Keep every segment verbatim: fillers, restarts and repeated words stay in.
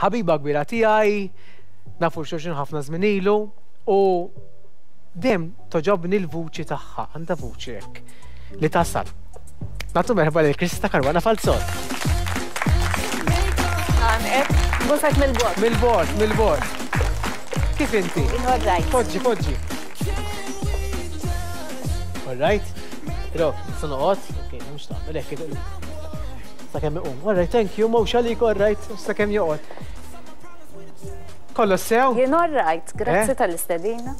Ħabiba kbira tiegħi, nafu xulxin ħafna żmien ilu u dejjem togħġobni l-vuċi tagħha, għandha vuċi hekk li tasal. Nagħtu merħba lil Krista Caruana Falzon. Għanet, busek mill-bogħod. Mill-bogħod, mill-bogħod. Kif inti? All right. Poġġi, poġġi. All right. Ro, nista' noqgħod. Ok, mhux taqbel hekk. Sakemm iqum. All right, thank you, mhux għalik, all right, sakemm joqgħod. Kollox sew? Jien all right, grazzi Eh? tal-istedina.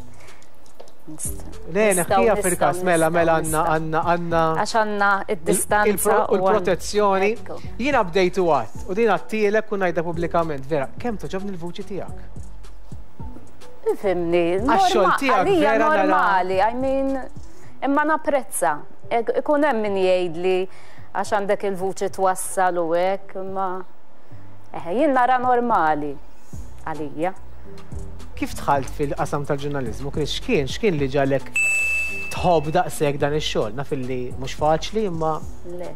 Le, neħħija fil-kas, mela, mela, għandna, għandna, għandna. Għax għandna id-distanza U l-protezzjoni. Ekku. Jiena bdejtu għat, u din għattilek u ngħidha pubblikament, vera, kemm togħġobni l-vuċi tiegħek? Ifhimni, Għax-xogħol norma- tiegħek għalija vera nara- normali, I mean, imma napprezza. Ik- Ikun hemm min jgħidli għax għandek il-vuċi twassal u hekk, imma eh, jien nara normali għalija. Kif dħalt fil-qasam tal-ġurnalizmu? Kien x'kien, x'kien li ġagħlek tħobb daqshekk dan ix-xogħol? Naf illi mhux faċli, imma Le.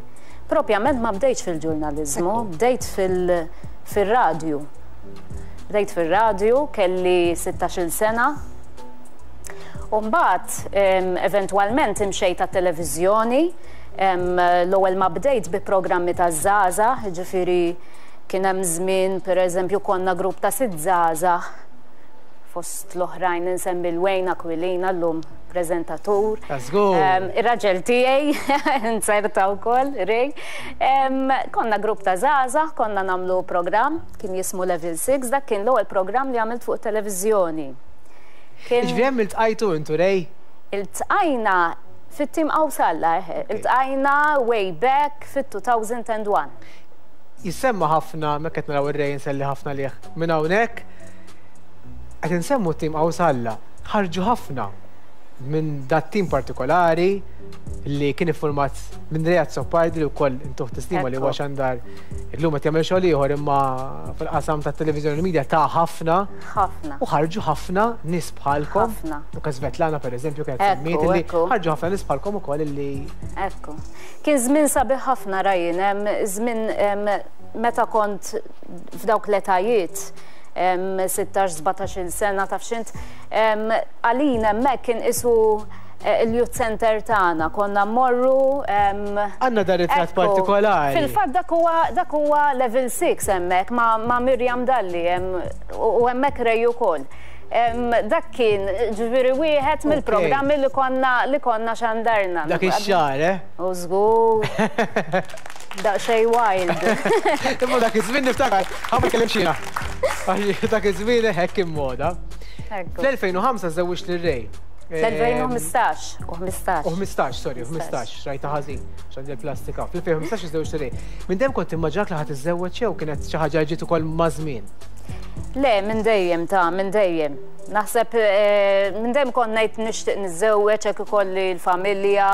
Propjament ma bdejtx fil-ġurnalizmu, bdejt fil- fil-radju. Bdejt fil-radju, kelli sittax-il sena. U mbagħad em, eventwalment imxejt għat-televiżjoni, em, l-ewwel ma bdejt bi programmi ta' żgħażagħ, ġifieri kien hemm żmien, pereżempju, konna grupp ta' sitt żgħażagħ, fost l-oħrajn insemmi l-Wayne Aquilina, llum preżentatur. Ta' żgur. Em, Ir-raġel tiegħi, inserta wkoll, Ray. Em, Konna grupp ta' żgħażagħ, konna nagħmlu programm, kien jismu Level sitta, dak kien l-ewwel programm li għamilt fuq televiżjoni. Kien Ġifieri hemm iltqajtu intu Ray? Iltqajna fit-tim Qawsalla, eħe, iltqajna way back fit-elfejn u wieħed. Jissemma ħafna, meta qed naraw ir-Ray nselli ħafna lih. Minn hawnhekk qed insemmu t-tim Qawsalla. Ħarġu ħafna minn dat tim partikolari li kien iffurmat minn Ray Azzopardi, li wkoll intuh tislima, li huwa Ekku. xandar, illum qed jagħmel xogħol ieħor imma fil-qasam tat-televiżjoni u media ta' ħafna Ħafna. u ħarġu ħafna nies bħalkom. Ħafna. U Svetlana, per eżempju, kienet Ekku, semmiet li ekku. ħarġu ħafna nies bħalkom ukoll illi Ekku. Kien żmien sabiħ ħafna, Ryan, em, żmien em, meta kont f'dawk l-etajiet, em, sittax sbatax-il sena, taf x'int, em, għalina hemmhekk kien isu eh, il-youth center tagħna, konna mmorru em, Għandna dar ritratt Ekku. partikolari. Fil-fatt dak huwa dak huwa Level sitta hemmhekk ma, ma Mirjam Dalli em, u u hemmhekk Ray ukoll. Em, Dak kien ġifieri wieħed mill-programmi li konna li konna xandarna. Dak ix-xahar, eh? U żgur. Daqsxejn wild. Imma dak iż-żmien niftakar, ħa ma kellim xina. Għax dak iż-żmien hekk kien moda. Ekku. Fl-elfejn u ħamsa żewwiġt lil Ray. Fl-elfejn u ħmistax. U ħmistax. U ħmistax, sorry, u ħmistax, rajta ħażin, x'għandi l-plastika. Fl-elfejn u ħmistax żewwiġt lil Ray. Minn dejjem kont immaġinak li ħadd iżżewweġ jew kienet xi ħaġa ġiet ukoll ma' żmien? Le, minn dejjem ta' minn dejjem. Naħseb eh, minn dejjem kont ngħid nixtieq niżżewweġ hekk ikolli l-familja.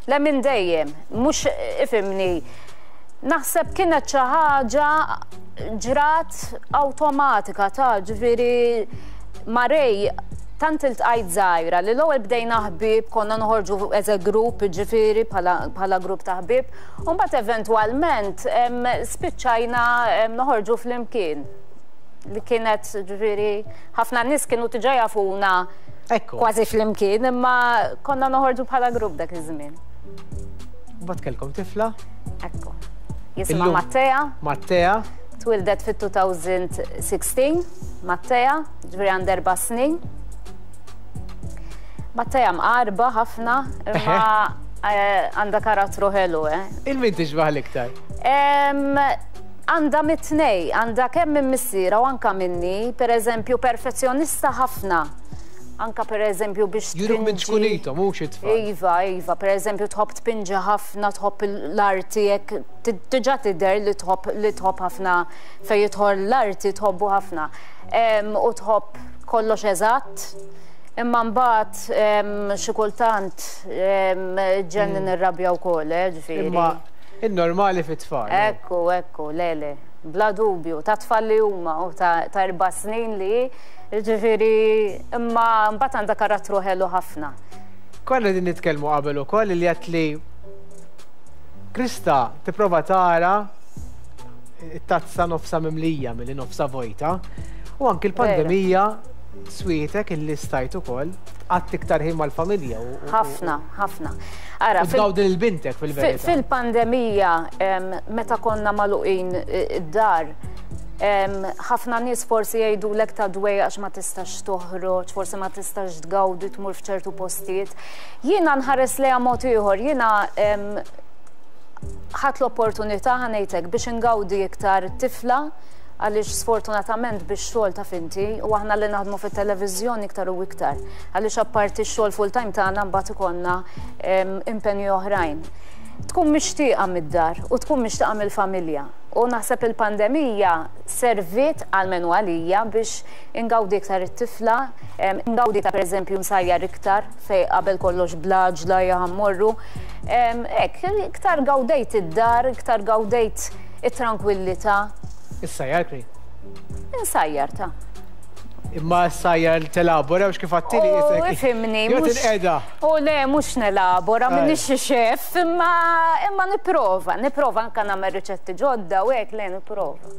Le, minn dejjem, mhux, ifhimni. Naħseb kienet xi ħaġa ġrat awtomatika ta' ġifieri ma' Ray tant iltqajt żgħira li l-ewwel bdejna ħbieb, konna noħorġu as a group, ġifieri bħala bħala grupp ta' ħbieb, u mbagħad eventwalment em, spiċċajna em, noħorġu flimkien. Li kienet, ġifieri, ħafna nies kienu diġà jafuna Ekku. kważi flimkien, imma konna noħorġu bħala grupp dak iż-żmien. Mbagħad kellkom tifla, Ekku. Jisimha Illum- Mattea, Mattea. Twildet fit-elfejn u sittax, Mattea, ġifieri għandha erba' snin. Mattea mqarba ħafna, imma eh, għandha karattru ħelu, eh. 'Il min tixbaħ l-iktar? Em, Għandha mit-tnejn, għandha kemm minn missiera u anka minni, per eżempju, perfezzjonista ħafna. Anka per eżempju biex Juruk minn tpinġi- ċkunithom, mhux it-tfal. Iva, iva, per eżempju tħobb tpinġi ħafna, tħobb l-arti, jekk diġà tidher li tħobb li tħobb ħafna fejn jidħol l-arti, tħobbu ħafna. Em, U tħobb kollox eżatt. Imma mbagħad em, xi kultant em, ġennin irrabja wkoll, eh, ġifieri. Imma il-normali fit-tfal. Ekku, ekku, le, le, bla dubju, ta' tfal li huma u ta' ta' erba' snin li, ġifieri, imma mbagħad għandha karattru ħelu ħafna. Konna din nitkellmu qabel ukoll li għedt li Krista tipprova tara it-tazza nofsa mimlija milli nofsa vojta. U anki l-pandemija swietek illi stajt ukoll qatt iktar ħin mal-familja. Ħafna, ħafna. Ara, tgawdi lil bintek fil-verità. Fil-pandemija, meta konna magħluqin id-dar, ħafna nies forsi jgħidulek ta' dwejjaq għax ma tistax toħroġ, forsi ma tistax tgawdi tmur f'ċertu postijiet. Jiena nħares lejha mod ieħor, jiena ħadt l-opportunità ħa ngħidlek biex ingawdi iktar tifla, għaliex sfortunatament biex xogħol taf inti u aħna li naħdmu fit-televiżjoni iktar u iktar. Għaliex apparti x-xogħol full time tagħna mbagħad ikollna impenji oħrajn. Tkun mixtieqa mid-dar u tkun mixtieqa mill-familja. U naħseb il-pandemija serviet għalmenu għalija biex ingawdi iktar it-tifla, ingawdi ta' pereżempju nsajjar iktar fej qabel kollox blaġla jaħammorru. Hekk, iktar gawdejt id-dar, iktar gawdejt it-tranquillità. Issajjar kri? Insajjar ta'. Imma s-sajjar telabora biex kif għattili jisek. Ifhimni. U le, mhux nelabora, m'iniex xi xef, imma imma nipprova, nipprova anke nagħmel riċetti ġodda u hekk le nipprova.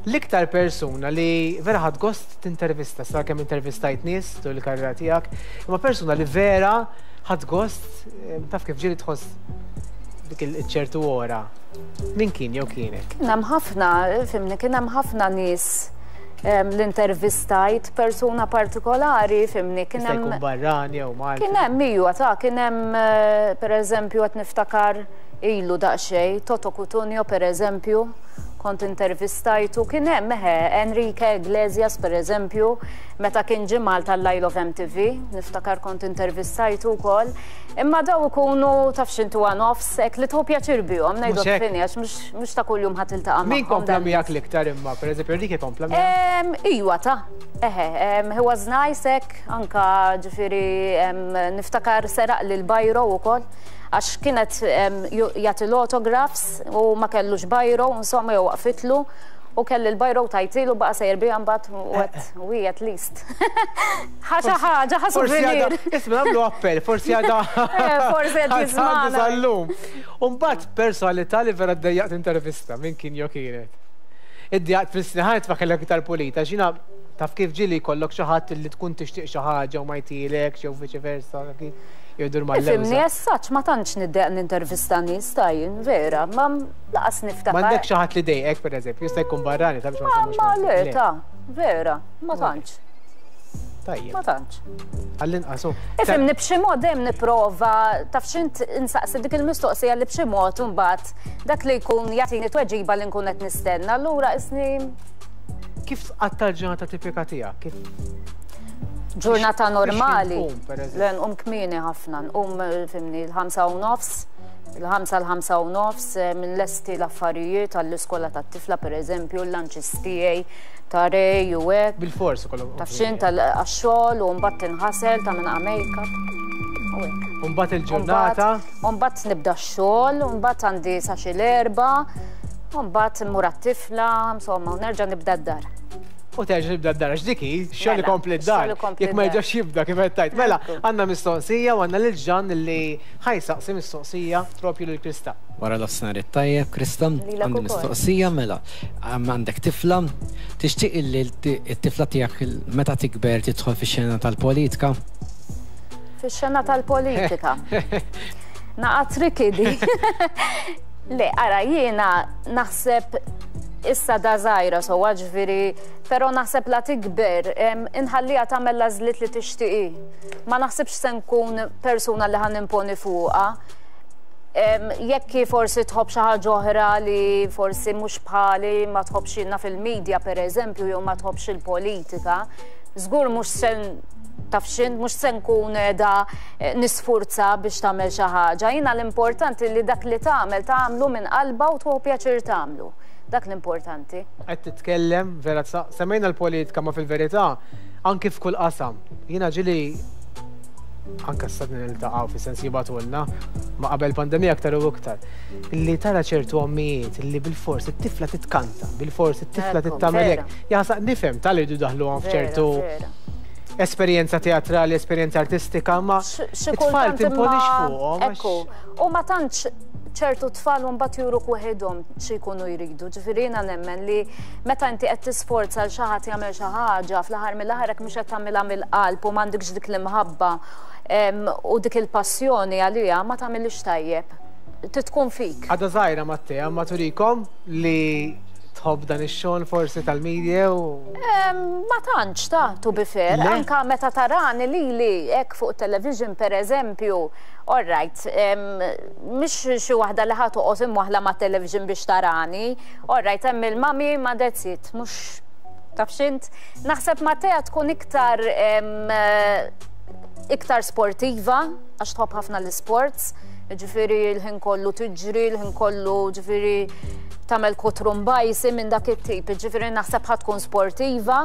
L-iktar persuna li vera ħadt gost tintervista, sa kemm intervistajt nies tul il-karriera tiegħek, imma persuna li vera ħadt gost, taf kif ġieli tħoss dik il-ċertu ora. Min kien jew kienet? Kien hemm ħafna, fimni, kien hemm ħafna nies l-intervistajt, persuna partikolari, fimni, kien hemm. Jkun barrani jew Malti. Kien hemm ijwa ta' kien hemm pereżempju qed niftakar ilu daqsxejn, Toto Cutugno pereżempju, kont intervistajtu, kien hemm eħe Enrique Iglesias pereżempju, meta kien ġie Malta l-Isle of M T V, niftakar kont intervistajtu wkoll. Imma daw ikunu taf x'intu nofs, hekk li tħu pjaċir bihom, ngħidu fini għax mhux ta' kuljum ħadd tiltaqa' magħhom. Min kompla miegħek l-iktar imma, pereżempju Enrique kompla miegħek? Ijwa ta' eħe, he was nice hekk, anka ġifieri niftakar seraq lil bajro wkoll, għax kienet jagħti l-autographs u ma kellux bajro, insomma jew waqfitlu u kelli l-bajro tajtilu baqa' sejjer biha mbagħad u hi at least. Ħaġa ħaġa ħa souvenir. Isma' nagħmlu appell, forsi għadha. Forsi qed jiżmana. Sal-lum. U mbagħad personalità li vera ddejjaqt intervista, min kien jew kienet. Iddejjaqt fis-sniħat ma kellek iktar pulita, x'jiena taf kif ġieli jkollok xi ħadd li tkun tixtieq xi ħaġa u ma jtilekx jew viċi versa. Jgħidur mal-lewża. Ifhimni, as such ma tantx niddeq nintervista nies tajjin, vera, ma laqas niftakar. M'għandek xi ħadd li dejqek pereżempju, jista' jkun barrani ta' biex ma nsemmux. Ma le, ta' vera, ma tantx. Tajjeb. Ma tantx. Għall-inqas. Ifhimni b'xi mod dejjem nipprova taf x'int insaqsi dik il-mistoqsija li b'xi mod imbagħad dak li jkun jagħtini tweġiba li nkun qed nistenna, allura isni. Kif tqatta' l-ġurnata tipika tiegħek? Ġurnata normali, le nqum kmieni ħafna, nqum fimni l-ħamsa u nofs, il-ħamsa l-ħamsa u nofs, minn lesti l-affarijiet għall-iskola tat-tifla pereżempju, l-lunches tiegħi, ta' rej u hekk. Bil-fors ukoll. Taf x'int għax-xogħol u mbagħad tinħasel ta' minn make-up. U hekk. U mbagħad il-ġurnata? U mbagħad nibda x-xogħol, u mbagħad għandi sa xi l-erba', u mbagħad immur għat-tifla, insomma, u nerġa' nibda d-dar. U terġa' tibda d-dar, għax dik hi, xogħol ikompli d-dar. Jekk ma jerġax jibda kif qed tgħid. Mela, għandna mistoqsija u għandna lil Ġan li ħajsaqsi mistoqsija propju lil Krista. Wara l-offsenar it-tajjeb, Krista, għandi mistoqsija mela. Għandek tifla, tixtieq li t-tifla tiegħek meta tikber tidħol fix-xena tal-politika? Fix-xena tal-politika. Naqa' tricky di. Le, ara, jiena naħseb issa da żgħira sewwa ġifieri, però naħseb la tikber, inħalliha tagħmel l-għażliet li tixtieqi. Ma naħsibx se nkun persuna li ħan imponi fuqha. Jekk hi forsi tħobb xi ħaġa oħra li forsi mhux bħali, ma tħobbx ilna fil-medja pereżempju jew ma tħobbx il-politika, żgur mhux se taf x'int, mhux se nkun qiegħda nisfurza biex tagħmel xi ħaġa. Jiena l-importanti li dak li tagħmel tagħmlu minn qalbha u tieħu pjaċir tagħmlu. Dak l-importanti. Qed titkellem, vera semmejna l-politika ma fil-verità anki f'kull qasam. Jiena ġieli anke s-sadni niltaqgħu fis-sens jibgħatulna ma qabel pandemija aktar u iktar. Illi tara ċertu ommijiet illi bil-fors it-tifla titkanta, bil-fors it-tifla tittamel hekk. Jaħsaq nifhem tal jridu daħluhom f'ċertu esperjenza teatrali, esperjenza artistika, ma it-tfal timponix fuqhom. Ekku, u ma tantx ċertu tfal u mbagħad juruk waħedhom xi jkunu jridu. Ġifieri jiena nemmen li meta inti qed tisforza l xi ħadd jagħmel xi ħaġa, fl-aħħar mill-aħħar hekk mhux qed tagħmilha mill-qalb u m'għandekx dik l-imħabba u dik il-passjoni għaliha, ma tagħmilix tajjeb. Titkun fik. Għadha żgħira Mattea, ma turikom li tħobb dan ix-xogħol forsi tal-media u Ma tantx ta' to be fair, anka meta tarani lili hekk fuq television per eżempju, all right, mhix xi waħda li ħa toqgħod imwaħla ma' television biex tarani, all right, hemm il-mami ma that's it, mhux taf x'int. Naħseb Mattea tkun iktar iktar sportiva, għax tħobb ħafna l-sports, ġifieri l-ħin kollu tiġri, l-ħin kollu ġifieri tagħmel kutrumbajsi minn dak it-tip, ġifieri naħseb ħa tkun sportiva,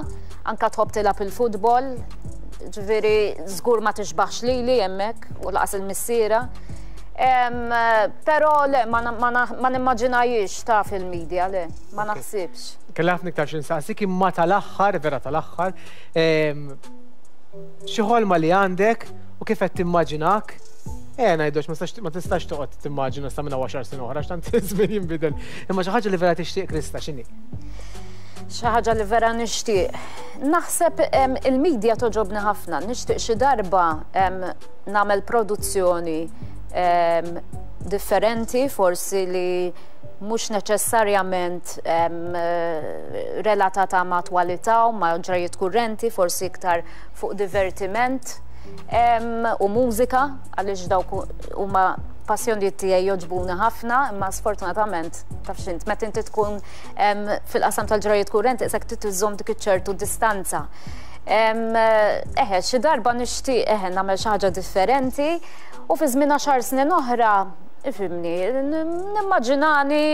anka tħobb tilgħab il-futbol, ġifieri żgur ma tixbaħx lili hemmhekk u laqas il-missiera. Però le, ma nimmaġinajiex ta' fil-media, le, ma naħsibx. Kelli ħafna iktar xi nsaqsik, imma tal-aħħar, vera tal-aħħar, xi ħolma li għandek u kif qed timmaġinak? Eh, ngħidux, ma tistax toqgħod timmaġina sa minn għaxar snin oħra, x'tant iż-żmien jinbidel. Imma xi ħaġa li vera tixtieq, Krista, x'inhi? Xi ħaġa li vera nixtieq. Naħseb il-media toġobni ħafna, nixtieq xi darba nagħmel produzzjoni differenti, forsi li mhux neċessarjament relatata ma' attwalità u ma' ġrajiet kurrenti, forsi iktar fuq divertiment u mużika, għaliex dawk huma passjonijiet tiegħi jogħġbuni ħafna, imma sfortunatament taf x'int, meta inti tkun fil-qasam tal-ġrajiet kurrenti isek trid iżżomm dik iċ-ċertu distanza. Eħe, xi darba nixtieq eħe nagħmel xi ħaġa differenti u fi żmien għaxar snin oħra, ifhimni, nimmaġinani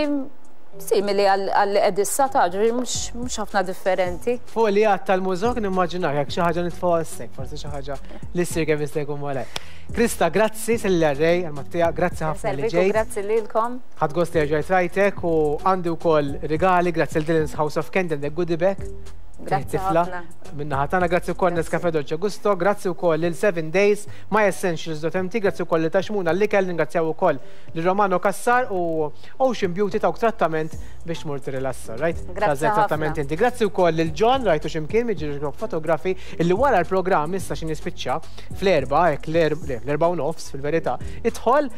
simili għal li qed issa ta' ġifieri mhux ħafna differenti. Fuq li għad tal-mużok nimmaġinak jekk xi ħaġa nitfgħu għas-sek, forsi xi ħaġa li ssir kemm jista' jkun malajr. Krista, grazzi selli għarrej għal Mattea, grazzi ħafna li ġejt. Grazzi lilkom. Ħadt gost li rġajt rajtek u għandi wkoll rigali, grazzi l Dylan's House of Candy għandek goodie bag. Grazzi ħafna. Minna ħatana, grazzi wkoll Nescafe Dolce Gusto, grazzi wkoll lil seven Days, My Essentials dot M T, grazzi wkoll li Taxmuna l-ikel, ringrazzjaw ukoll lil Romano Cassar u Ocean Beauty tawk trattament biex tmur tirilassa, right? Grazzi Tażel trattament ħafna. inti. Grazzi wkoll lil John, rajtu x'imkien miġi fotografi, illi wara l-programm issa xi nispiċċa fl-erba, hekk l-erba u nofs fil-verità, idħol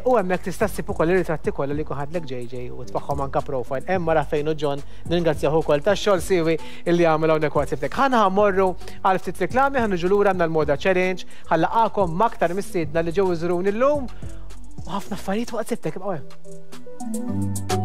u hemmhekk tista' ssib ukoll ir-ritratti kollha li jkun ħadlek J J u tfaħħom anka profile. Hemm mara fejn u John, nirringrazzjahu wkoll tax-xogħol siwi illi għamel hawnhekk waqt siftek. Ħana ħammorru għal ftit reklami, ħa niġu lura għandna l-Moda Challenge, ħallaqakom m'aktar mistiedna li ġew iżuruni llum u ħafna affarijiet waqt siftek, ibqgħu hemm.